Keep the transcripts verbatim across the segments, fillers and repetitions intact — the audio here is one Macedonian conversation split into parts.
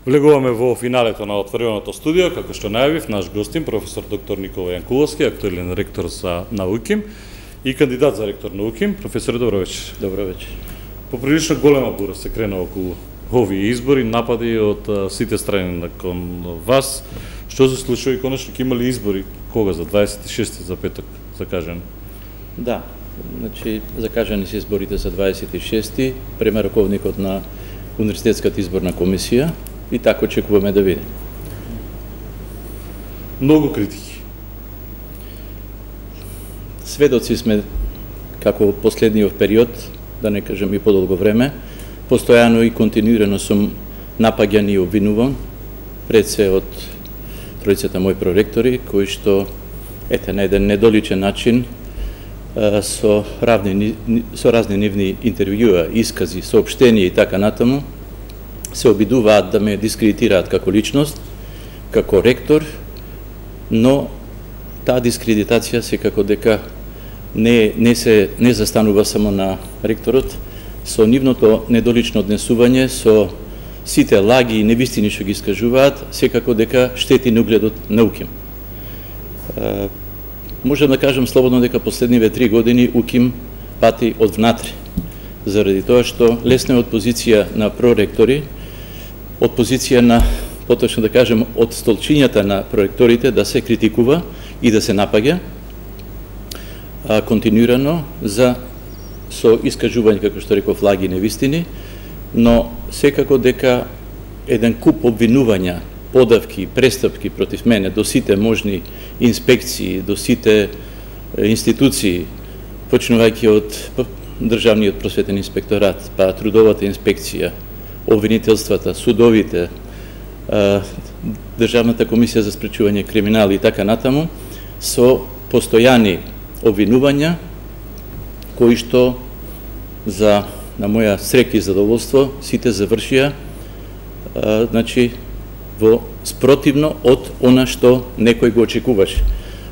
Влегуваме во финалето на отвореното студио, како што најавив, наш гостин, професор доктор Никола Јанкуловски, актуелен ректор за науки и кандидат за ректор на УКИМ. Професоре, добро вечер. Добро вечер. Поприлично голема бура се крена околу овие избори, напади од а, сите страни кон вас. Што се случува и конечно ќе имали избори кога за дваесет и шести за петок закажани? Да, значи закажани се изборите за дваесет и шести, према раковникот на Универзитетската изборна комисија и така очекуваме да видиме. Многу критики. Сведоци сме како последниот период, да не кажам и подолго време, постојано и континуирано сум напаѓан и обвинуван, пред се од тројцата мои проректори, кои што, ете, на еден недоличен начин, со, равни, со разни нивни интервјуа, искази, соопштенија и така натаму, се обидуваат да ме дискредитираат како личност, како ректор, но таа дискредитација секако дека не, не се не застанува само на ректорот, со нивното недолично однесување, со сите лаги и невистини што ги искажуваат, секако дека штети на угледот на УКИМ. Можем да кажем слободно дека последниве три години УКИМ пати од внатре, заради тоа што лесна од позиција на проректори, од позиција на, поточно да кажем, од столчињата на проректорите да се критикува и да се напаѓа а, континуирано за со искажување, како што реков, лаги и невистини, но секако дека еден куп обвинувања, подавки, престапки против мене до сите можни инспекции, до сите институции, почнувајќи од Државниот просветен инспекторат, па трудовата инспекција, обвинителствата, судовите, Државната комисија за спречување криминал и така натаму, со постојани обвинувања, кои што за на моја среќа и задоволство сите завршија а, значи во спротивно од она што некој го очекуваше.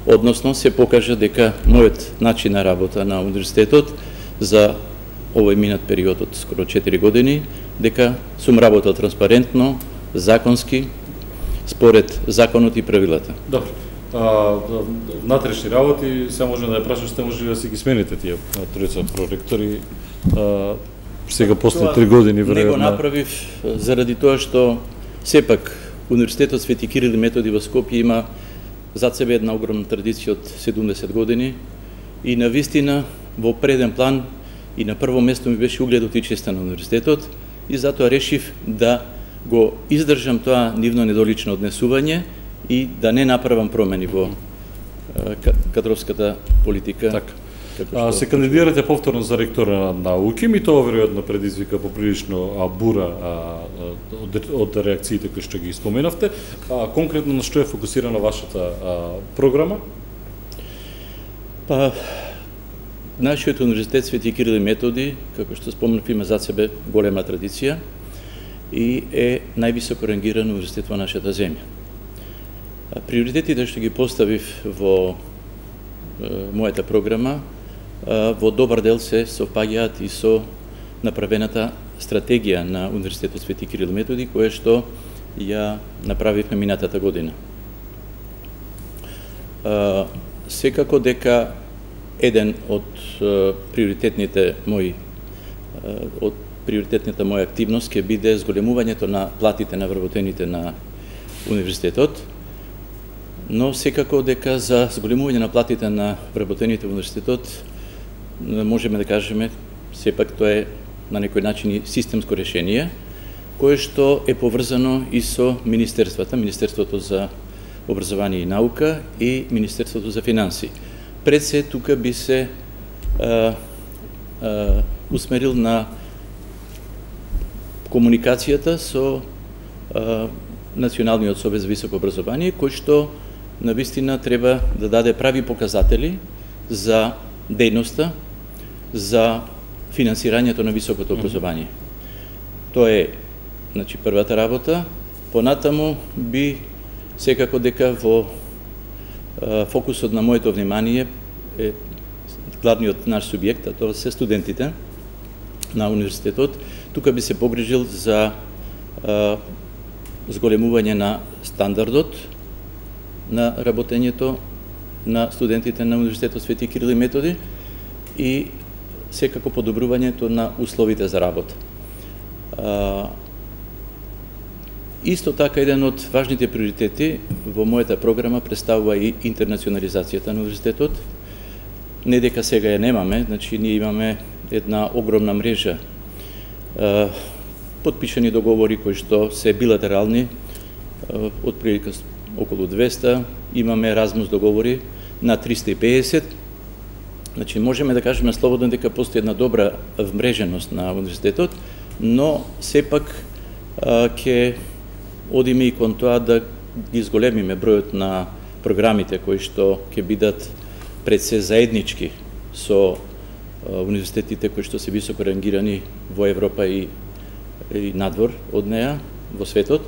Односно се покажа дека мојот начин на работа на универзитетот за овој минат период од скоро четири години, дека сум работел транспарентно, законски, според законот и правилата. Добро. А, внатрешни работи, се може да ја прашам, сте може да си ги смените тие тројца проректори, а, сега после три години веројатно. Не го направив заради тоа што сепак Универзитетот Свети Кирил и Методи во Скопје има зад себе една огромна традиција од седумдесет години и на вистина во преден план и на прво место ми беше угледот и честа на универзитетот и затоа решив да го издржам тоа нивно недолично однесување и да не направам промени во кадровската политика. Така. А, се кандидирате повторно за ректор на УКИМ и тоа веројатно предизвика поприлично бура а, од, од реакциите кои што ги споменавте. А, конкретно на што е фокусирана вашата а, програма? Па, нашиот универзитет Свети Кирил и Методи, како што спомнав, има зад себе голема традиција и е највисоко рангиран универзитет во нашата земја. А, приоритетите што ги поставив во е, мојата програма во добар дел се совпаѓаат и со направената стратегија на Универзитетот Свети Кирил и Методи, која што ја направивме минатата година. Секако дека еден од приоритетните мои од приоритетната моја активност ќе биде зголемувањето на платите на вработените на универзитетот, но секако дека за зголемување на платите на вработените во универзитетот можеме да кажеме, сепак тоа е на некој начин и системско решение, кое што е поврзано и со министерствата, Министерството за образование и наука и Министерството за финанси. Пред се тука би се а, а, усмерил на комуникацијата со а, Националниот совет за високо образование, кој што навистина треба да даде прави показатели за дејноста, за финансирањето на високото образование. Тоа е, значи, првата работа. Понатаму би секако дека во а, фокусот на моето внимание е главниот наш субјект, а тоа се студентите на универзитетот. Тука би се погрижил за а, зголемување на стандардот на работењето на студентите на Универзитетот Свети Кирил и Методи и секако подобрувањето на условите за работа. А, исто така, еден од важните приоритети во мојата програма представува и интернационализацијата на универзитетот. Не дека сега ја немаме, значи ние имаме една огромна мрежа а, подпишани договори кои што се билатерални, од прилика околу двеста, имаме Еразмус договори на триста и педесет. Значи можеме да кажеме слободно дека постои една добра вмреженост на универзитетот, но сепак ќе одиме и кон тоа да ги изголемиме бројот на програмите кои што ќе бидат пред се заеднички со универзитетите кои што се високо рангирани во Европа и, и надвор од неа во светот,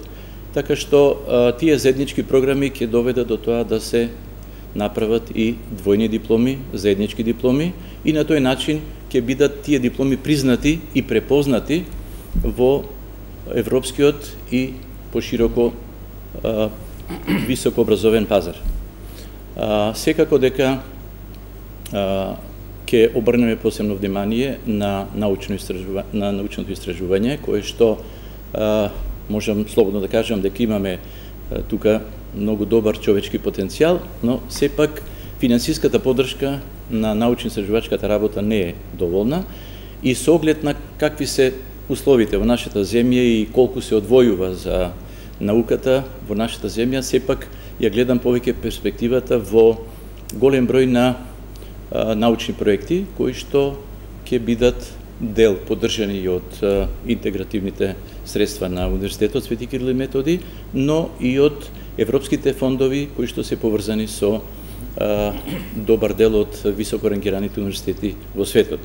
така што а, тие заеднички програми ќе доведат до тоа да се направат и двојни дипломи, заеднички дипломи, и на тој начин ќе бидат тие дипломи признати и препознати во европскиот и пошироко а, високо образовен пазар. А, секако дека а, ќе обрнеме посебно внимание на научно истражување, на научното истражување, кое што а, можам слободно да кажам дека имаме а, тука многу добар човечки потенцијал, но сепак финансиската поддршка на научно-истражувачката работа не е доволна и со оглед на какви се условите во нашата земја и колку се одвојува за науката во нашата земја, сепак ја гледам повеќе перспективата во голем број на а, научни проекти кои што ќе бидат дел поддржани од а, интегративните средства на Универзитетот Свети Кирил и Методи, но и од европските фондови кои што се поврзани со а, добар дел од високо рангираните универзитети во светот.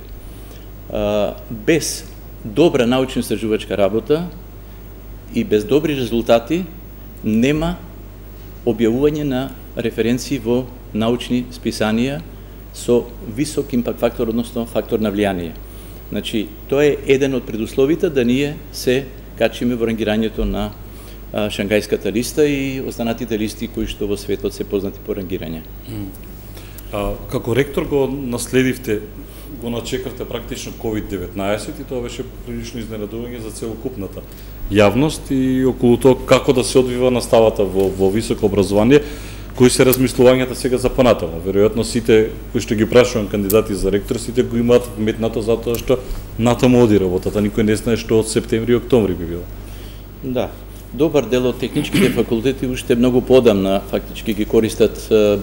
А, без добра научно-истражувачка работа и без добри резултати нема објавување на референции во научни списанија со висок импакт фактор, односно фактор на влијание. Значи, тоа е еден од предусловите да ние се качиме во рангирањето на а, Шангајската листа и останатите листи кои што во светот се познати по рангирање. А, како ректор го наследивте, го начекавте практично ковид деветнаесет и тоа беше прилично изненадување за целокупната јавност и околу тоа како да се одвива наставата во, во високо образование, кои се размислувањата сега за понатаму. Веројатно сите кои што ги прашувам кандидати за ректор, сите го имаат вметнато затоа што натаму оди работата, никој не знае што од септември и октомври би било. Да, добар дел од техничките факултети уште многу подамна фактички ги користат е,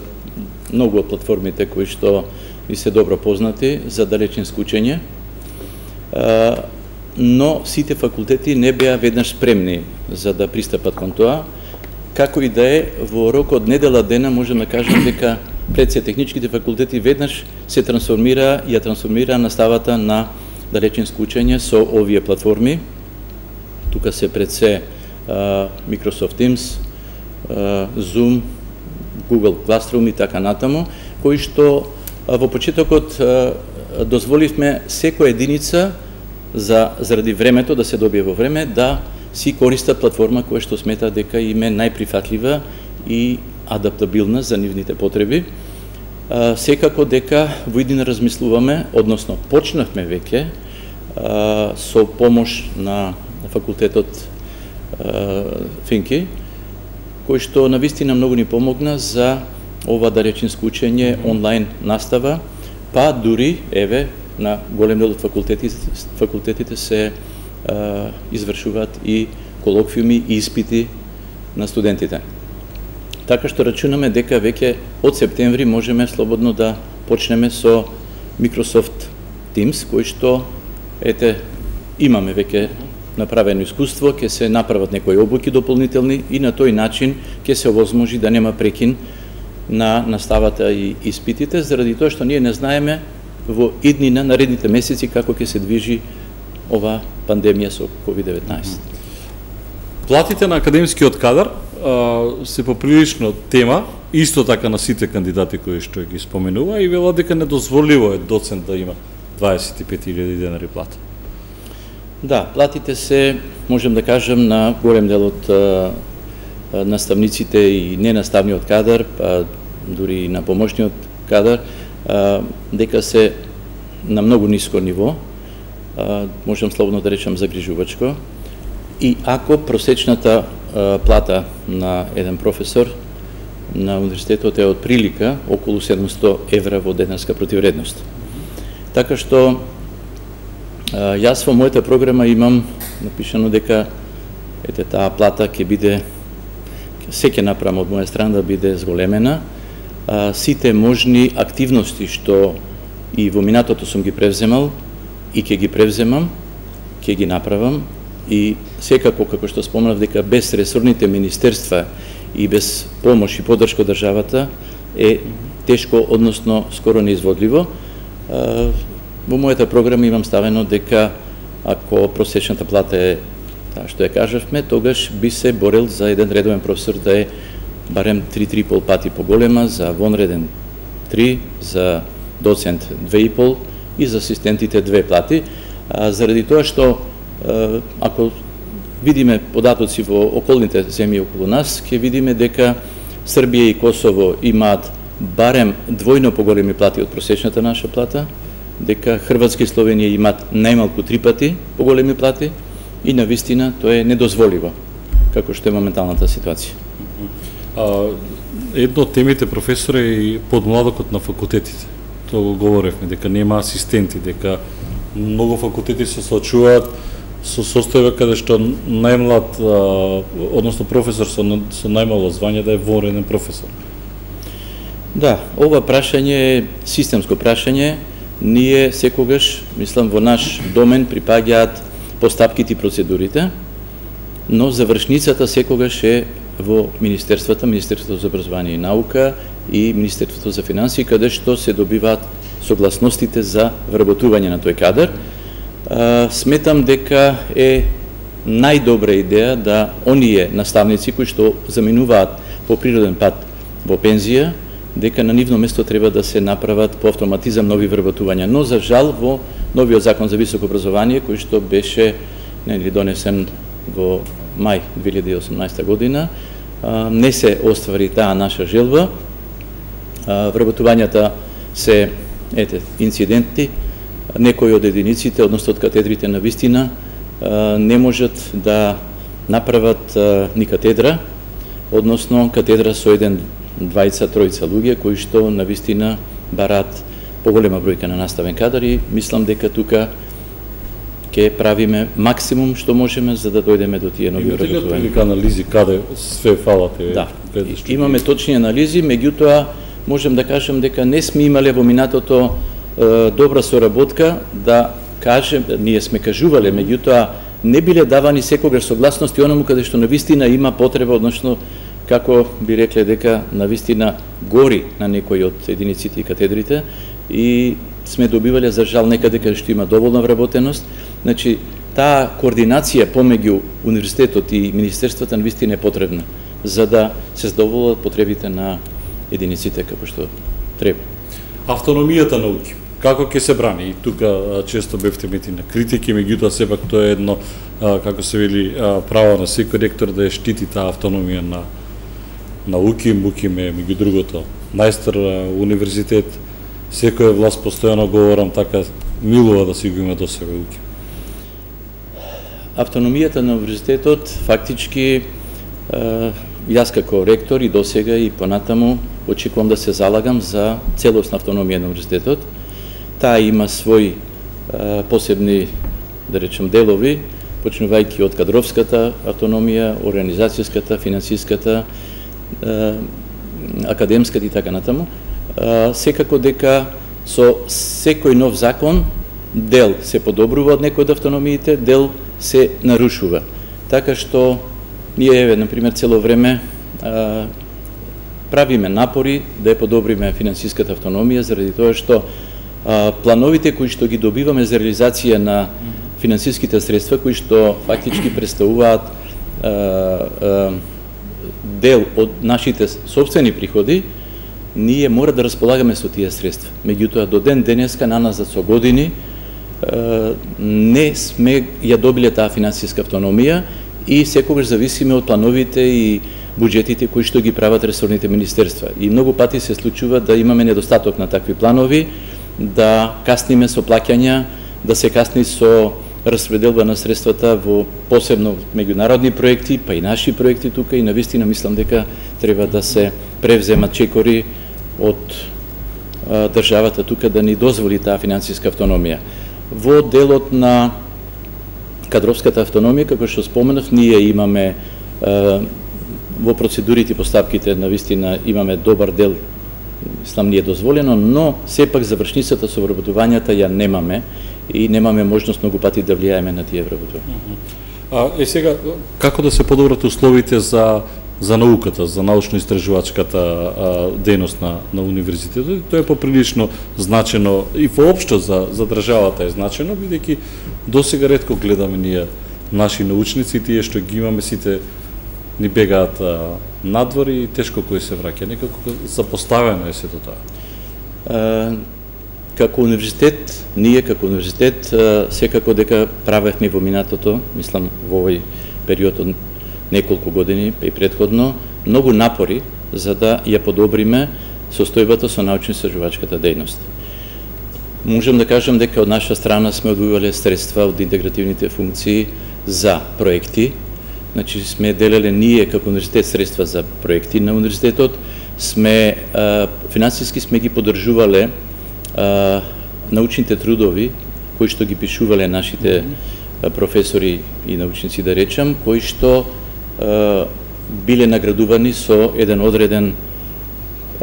многу од платформите кои што ни се добро познати за далечинско учење, е, но сите факултети не беа веднаш спремни за да пристапат кон тоа. Како и да е, во рок од недела дена можем да кажем дека пред се техничките факултети веднаш се трансформира и ја трансформира наставата на далечинско учење со овие платформи. Тука се пред се uh, Microsoft Teams, uh, Zoom, Google Classroom и така натаму, кои што uh, во почетокот uh, дозволивме секоја единица за заради времето да се добие во време да си користа платформа која што смета дека им е најприфатлива и адаптабилна за нивните потреби. А, секако дека во иднина размислуваме, односно почнавме веќе а, со помош на факултетот а, Финки, кој што навистина многу ни помогна за ова далечинско учење, онлайн настава, па дури, еве, на голем дел од факултетите, факултетите се Uh, извршуваат и колоквиуми и испити на студентите. Така што рачунаме дека веќе од септември можеме слободно да почнеме со Microsoft Teams, кој што ете имаме веќе направено искуство, ќе се направат некои обуки дополнителни и на тој начин ќе се овозможи да нема прекин на наставата и испитите, заради тоа што ние не знаеме во иднина наредните месеци како ќе се движи ова пандемија со ковид деветнаесет. Платите на академскиот кадар а, се поприлично тема, исто така на сите кандидати кои што ги споменува и вела дека недозволиво е доцент да има дваесет и пет илјади денари плата. Да, платите се, можем да кажем, на голем дел од а, наставниците и ненаставниот кадар, па дури и на помошниот кадар, а, дека се на многу ниско ниво, а, можем слободно да речем загрижувачко. И ако просечната а, плата на еден професор на универзитетот е од прилика околу седумстотини евра во денеска противредност. Така што а, јас во мојата програма имам напишано дека ете таа плата ќе биде, се ќе направам од моја страна да биде зголемена. А, сите можни активности што и во минатото сум ги превземал и ќе ги превземам, ќе ги направам. И секако, како што спомнав, дека без ресорните министерства и без помош и поддршка од државата е тешко, односно скоро неизводливо. Во мојата програма имам ставено дека ако просечната плата е таа што ја кажавме, тогаш би се борел за еден редовен професор да е барем три-три и пол пати поголема, за вонреден три, за доцент две и пол и за асистентите две плати, а, заради тоа што ако видиме податоци во околните земји околу нас, ќе видиме дека Србија и Косово имаат барем двојно поголеми плати од просечната наша плата, дека Хрватска и Словенија имаат најмалку три пати поголеми плати и навистина тоа е недозволиво, како што е моменталната ситуација. А, едно од темите, професоре, е и подмладокот на факултетите. Тоа го говоревме, дека нема асистенти, дека многу факултети се соочуваат со состојба каде што најмлад, а, односно професор со, со најмало звање да е вонреден професор. Да, ова прашање е системско прашање. Ние секогаш, мислам, во наш домен припаѓаат постапките и процедурите, но завршницата секогаш е во Министерството, Министерството за образование и наука и Министерството за финансии, каде што се добиваат согласностите за вработување на тој кадар. А, сметам дека е најдобра идеја да оние наставници кои што заминуваат по природен пат во пензија, дека на нивно место треба да се направат по автоматизам нови вработувања. Но за жал во новиот закон за високо образование кој што беше нели донесен во мај две илјади и осумнаесета година, а, не се оствари таа наша желба. А, вработувањата се ете инциденти. Некои од единиците, односно од катедрите на вистина, не можат да направат ни катедра, односно катедра со еден, двајца, тројца луѓе, кои што на вистина бараат поголема бројка на наставен кадар и мислам дека тука ќе правиме максимум што можеме за да дојдеме до тие нови вработувања. Имате ли анализи каде све фалате? Да, имаме точни анализи, меѓутоа можем да кажем дека не сме имале во минатото добра соработка, да кажем, ние сме кажувале, меѓутоа не биле давани секогаш согласности оному каде што навистина има потреба, односно како би рекле дека навистина гори на некои од единиците и катедрите и сме добивале за жал некаде каде што има доволна вработеност. Значи, таа координација помеѓу универзитетот и министерството навистина е потребна за да се задоволат потребите на единиците како што треба. Автономијата науки, како ќе се брани? И тука често бевте мети на критики, меѓутоа сепак тоа е едно, како се вели, право на секој ректор да ја штити таа автономија на науки, УКИМ е меѓу другото најстар универзитет, секоја власт постојано говорам така милува да си го има до себе УКИМ. Автономијата на универзитетот фактички јас како ректор и досега и понатаму очекувам да се залагам за целосна автономија на универзитетот. Таа има своји а, посебни, да речем, делови, почнувајќи од кадровската автономија, организацијската, финансиската, а, академската и така натаму. А, секако дека со секој нов закон дел се подобрува од некој од автономиите, дел се нарушува. Така што ние, еве, например, цело време а, правиме напори да ја подобриме финансиската автономија, заради тоа што а, плановите кои што ги добиваме за реализација на финансиските средства, кои што фактички представуваат а, а, дел од нашите собствени приходи, ние мора да располагаме со тие средства. Меѓутоа, до ден денеска, наназад со години, не сме ја добиле таа финансиска автономија и секогаш зависиме од плановите и буџетите кои што ги прават ресорните министерства. И многу пати се случува да имаме недостаток на такви планови, да касниме со плаќања, да се касни со распределба на средствата во посебно меѓународни проекти, па и наши проекти тука, и навистина мислам дека треба да се превземат чекори од а, државата тука да ни дозволи таа финансиска автономија. Во делот на кадровската автономија, како што споменав, ние имаме а, во процедурите и постапките навистина имаме добар дел, мислам, ни е дозволено, но сепак завршницата со вработувањата ја немаме и немаме можност многу пати да влијаеме на тие вработувања. А е сега како да се подобрат условите за за науката, за научно-истражувачката дејност на на универзитетот? Тоа е поприлично значено и воопшто за за државата е значено, бидејќи досега ретко гледаме ние наши научници, тие што ги имаме сите ни бегаат надвор и тешко кој се враќа. Некако запоставено е сето тоа. А, како универзитет, ние како универзитет секако дека правевме во минатото, мислам во овој период од неколку години и претходно, многу напори за да ја подобриме состојбата со научно-истражувачката дејност. Можам да кажам дека од наша страна сме одвојувале средства од интегративните функции за проекти. Значи сме делеле ние како универзитет средства за проекти на универзитетот, сме а, финансиски сме ги поддржувале а, научните трудови кои што ги пишувале нашите а, професори и научници, да речам, кои што а, биле наградувани со еден одреден,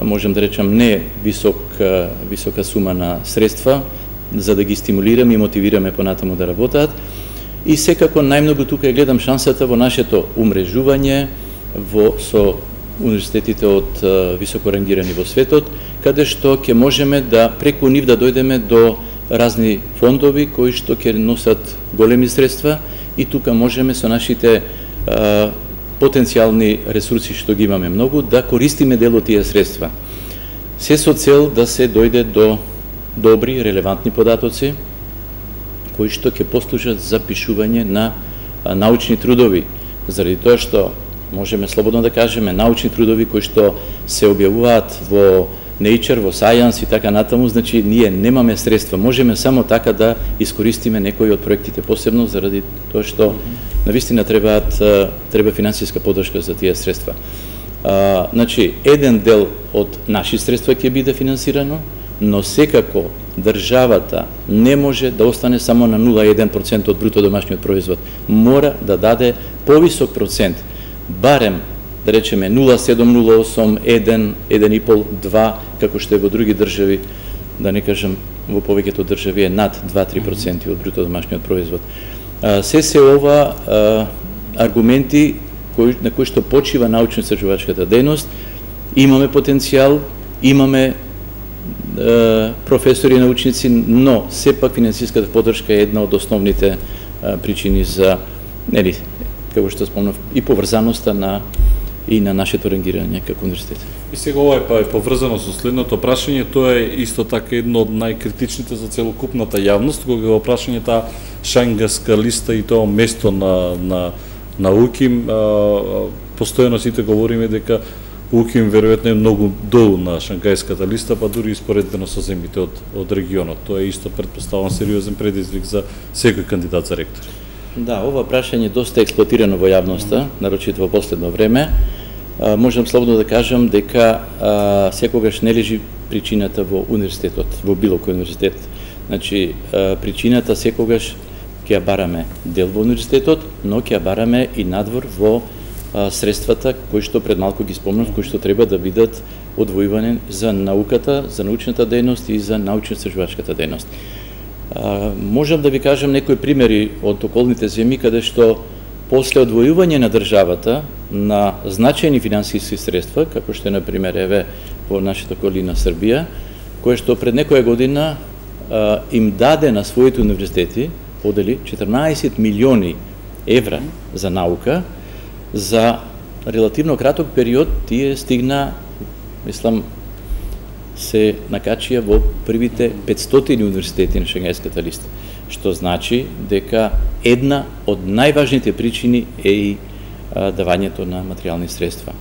можам да речам, не висок, а, висока сума на средства, за да ги стимулираме и мотивираме понатаму да работат. И секако најмногу тука ја гледам шансата во нашето умрежување во со универзитетите од а, високо рангирани во светот, каде што ќе можеме да преку нив да дојдеме до разни фондови кои што ќе носат големи средства и тука можеме со нашите а, потенцијални ресурси што ги имаме многу да користиме дел од тие средства. Се со цел да се дојде до добри, релевантни податоци кои што ќе послужат за пишување на научни трудови, заради тоа што можеме слободно да кажеме научни трудови кои што се објавуваат во Nature, во Science и така натаму, значи ние немаме средства, можеме само така да искористиме некои од проектите, посебно заради тоа што навистина требаат треба финансиска поддршка за тие средства. А, значи еден дел од наши средства ќе биде финансирано, но секако државата не може да остане само на нула целу еден процент од бруто домашниот производ. Мора да даде повисок процент, барем да речеме нула целу седум, нула целу осум, еден, еден и пол, два, како што е во други држави, да не кажам во повеќето држави е над два до три проценти од бруто домашниот производ. А, се се ова а, аргументи кои, на кои што почива научно-истражувачката дејност, имаме потенцијал, имаме професори и научници, но сепак финансиската поддршка е една од основните а, причини за, нели, како што спомнав, и поврзаноста на и на нашето рангирање како универзитет. И сега ова е па е поврзано со следното прашање, тоа е исто така едно од најкритичните за целокупната јавност, кога го прашање таа Шангajска листа и тоа место на на на УКИМ, постојано сите говориме дека УКИМ веројатно е многу долу на Шангajската листа, па дури испоредбено со земјите од од регионот. Тоа е исто претпоставувам сериозен предизвик за секој кандидат за ректор. Да, ова прашање доста експлоатирано во јавноста, нарочито во последно време. А, можам слободно да кажам дека а, секогаш не лежи причината во универзитетот, во било кој универзитет. Значи, а, причината секогаш ќе ја бараме дел во универзитетот, но ќе ја бараме и надвор во а, средствата кои што пред малку ги спомнав, кои што треба да бидат одвојувани за науката, за научната дејност и за научно-истражувачката дејност. А, можам да ви кажам некои примери од околните земји каде што после одвојување на државата на значајни финансиски средства, како што е на пример еве во нашата колина Србија, кое што пред некоја година а, им даде на своите универзитети, подели четрнаесет милиони евра за наука, за релативно краток период тие стигна, мислам, се накачија во првите петстотини универзитети на Шангajската листа. што значи дека една од најважните причини е и а, давањето на материјални средства.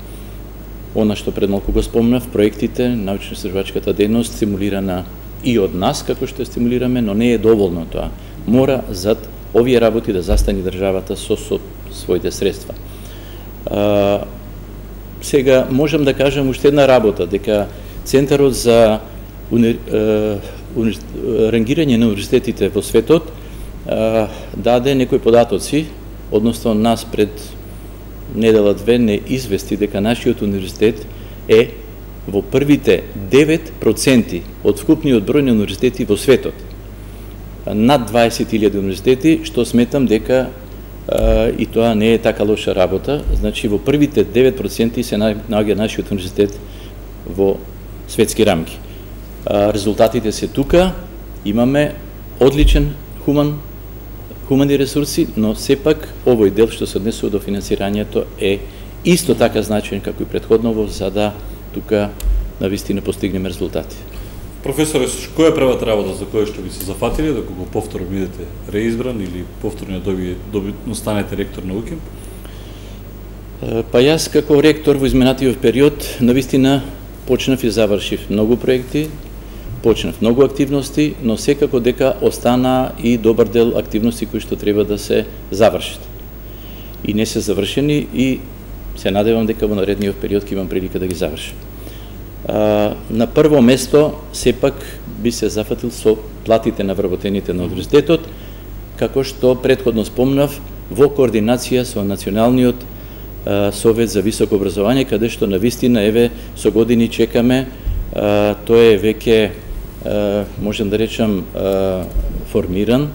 Она што пред малку го спомнав, проектите, научно-истражувачката дејност стимулирана и од нас, како што стимулираме, но не е доволно тоа. Мора зад овие работи да застани државата со, со своите средства. А, сега можам да кажам уште една работа, дека Центарот за уни, а, уни, рангирање на универзитетите во светот а, даде некои податоци, односно нас пред недела две не извести дека нашиот универзитет е во првите девет проценти од вкупниот број на универзитети во светот. Над дваесет илјади универзитети, што сметам дека а, и тоа не е така лоша работа. Значи во првите девет проценти се наоѓа нашиот универзитет во светски рамки. А, резултатите се тука, имаме одличен хуман хумани ресурси, но сепак овој дел што се однесува до финансирањето е исто така значаен како и претходново, за да тука навистина постигнеме резултати. Професоре, која е првата работа за која што би се зафатиле, доколку повторно бидете реизбран или повторно доби, доби, станете ректор на УКИМ? Па јас како ректор во изминатиот период навистина почнав и завршив многу проекти, почнав многу активности, но секако дека остана и добар дел активности кои што треба да се завршат. И не се завршени и се надевам дека во наредниот период ќе имам прилика да ги завршам. А, на прво место сепак би се зафатил со платите на вработените на универзитетот, како што претходно спомнав, во координација со Националниот а, совет за високо образование, каде што навистина еве со години чекаме, а, тоа е веќе можем да речам формиран,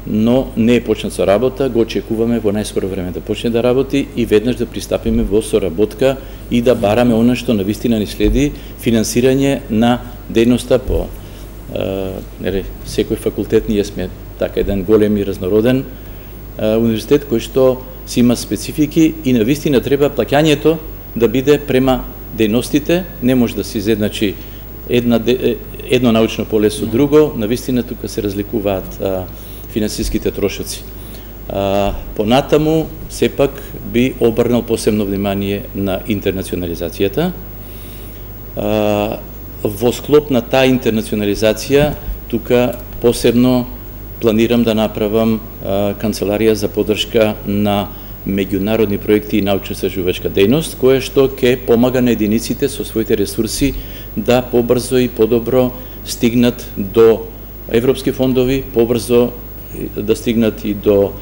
но не е почнат со работа, го очекуваме во најскоро време да почне да работи и веднаш да пристапиме во соработка и да бараме она што навистина ни следи, финансирање на дејноста по нели, секој факултет. Ние сме така еден голем и разнороден универзитет кој што си има специфики и навистина треба плаќањето да биде према дејностите, не може да се изедначи една едно научно поле со друго, навистина тука се разликуваат а, финансиските трошоци. А, понатаму, сепак би обрнал посебно внимание на интернационализацијата. А, во склоп на таа интернационализација, тука посебно планирам да направам а, канцеларија за поддршка на меѓународни проекти и научно-истражувачка дејност, која што ќе помага на единиците со своите ресурси да побрзо и подобро стигнат до европски фондови, побрзо да стигнат и до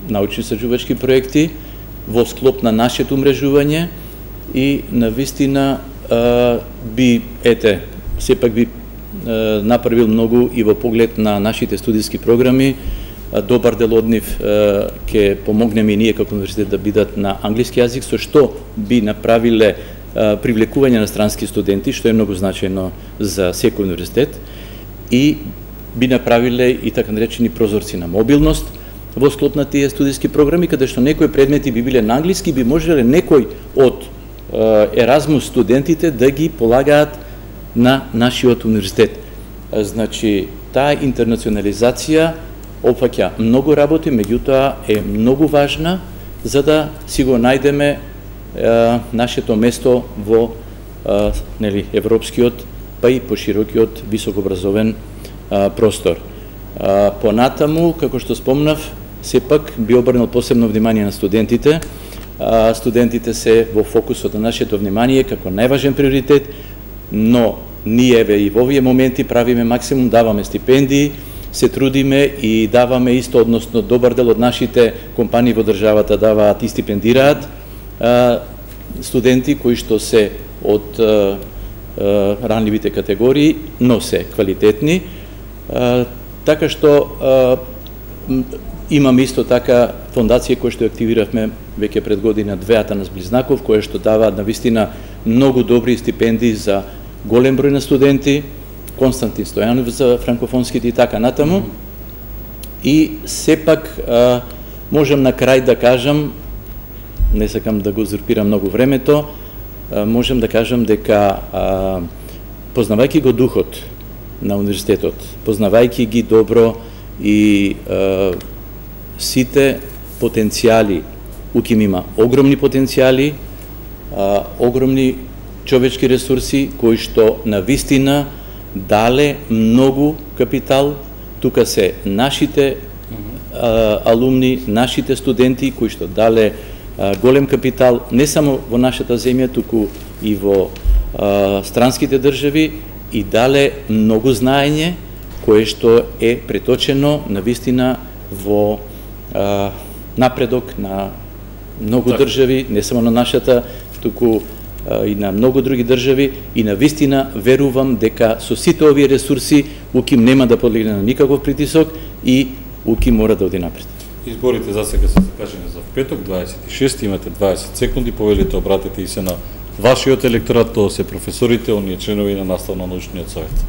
научно-истражувачки проекти во склоп на нашето умрежување и навистина а, би, ете, сепак би а, направил многу и во поглед на нашите студиски програми. Добар дел од нив ќе помогнеме и ние како универзитет да бидат на англиски јазик, со што би направиле привлекување на странски студенти, што е многу значајно за секој универзитет, и би направиле и така наречени прозорци на мобилност во склоп на тие студиски програми, каде што некои предмети би биле на англиски, би можеле некој од Еразмус студентите да ги полагаат на нашиот универзитет. Значи, таа интернационализација опфаќа многу работи, меѓутоа е многу важна за да си го најдеме е, нашето место во е, нели, европскиот, па и поширокиот високообразовен е, простор. Е, понатаму, како што спомнав, сепак би обрнал посебно внимание на студентите. Е, студентите се во фокусот на нашето внимание како најважен приоритет, но ние еве и во овие моменти правиме максимум, даваме стипендии, се трудиме и даваме исто, односно добар дел од нашите компании во државата даваат и стипендираат а, студенти кои што се од а, а, ранливите категории, но се квалитетни. А, така што а, имаме исто така фондација која што активиравме веќе пред година две, Атанас Близнаков, која што дава навистина многу добри стипендии за голем број на студенти, Константин Стојанов за франкофонските и така натаму. И сепак а, можам на крај да кажам, не сакам да го узурпирам многу времето, а, можам да кажам дека а, познавајќи го духот на универзитетот, познавајќи ги добро и е, сите потенцијали, УКИМ има огромни потенцијали, е, огромни човечки ресурси кои што на вистина дале многу капитал. Тука се нашите а, алумни, нашите студенти кои што дале а, голем капитал не само во нашата земја, туку и во а, странските држави, и дале многу знаење кое што е преточено на вистина во а, напредок на многу так. држави, не само на нашата, туку и на многу други држави, и на вистина верувам дека со сите овие ресурси УКИМ нема да подлегне на никаков притисок и УКИМ мора да оди напред. Изборите за сега се закажани за петок, дваесет и шести, имате дваесет секунди, повелите обратите и се на вашиот електорат, тоа се професорите, оние членови на наставно-научниот совет.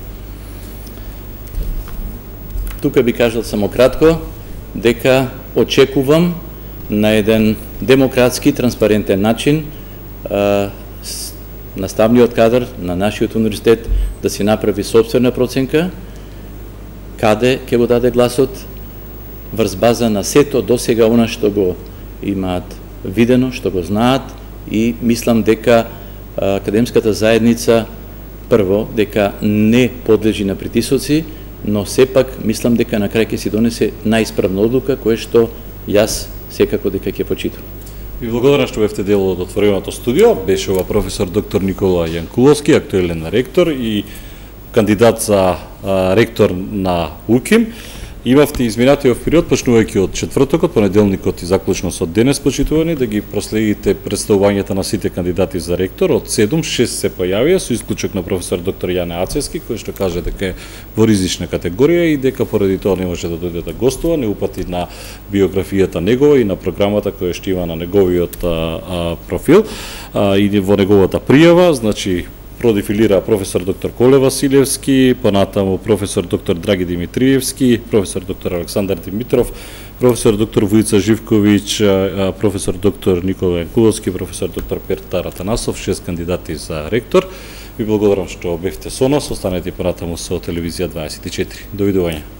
Тука би кажал само кратко дека очекувам на еден демократски, транспарентен начин наставниот кадар на нашиот универзитет да си направи собствена проценка каде ќе го даде гласот врз база на сето досега она што го имаат видено, што го знаат, и мислам дека академската заедница прво дека не подлежи на притисоци, но сепак мислам дека на крај ќе си донесе најисправна одлука која што јас секако дека ќе почитам. Ви благодарам што бевте дел од отвореното студио. Беше ова професор доктор Никола Јанкуловски, актуелен ректор и кандидат за а, ректор на УКИМ. Имавте изминатиот период, почнувајќи од четвртокот, понеделникот и заклучно со денес, почитувани, да ги проследите представувањата на сите кандидати за ректор. Од седум, шест се појавија, со исклучок на професор доктор Јане Ацевски, кој што каже дека е во ризична категорија и дека поради тоа не може да дојде да гостува, не упати на биографијата негова и на програмата која што има на неговиот а, а, профил а, и во неговата пријава, значи продефилира професор доктор Коле Василевски, понатаму професор доктор Драги Димитриевски, професор доктор Александар Димитров, професор доктор Војица Живковиќ, професор доктор Никола Јанкуловски, професор доктор Петар Атанасов, шест кандидати за ректор. Ви благодарам што бевте со нас, останете понатаму со телевизија дваесет и четири. Довидување.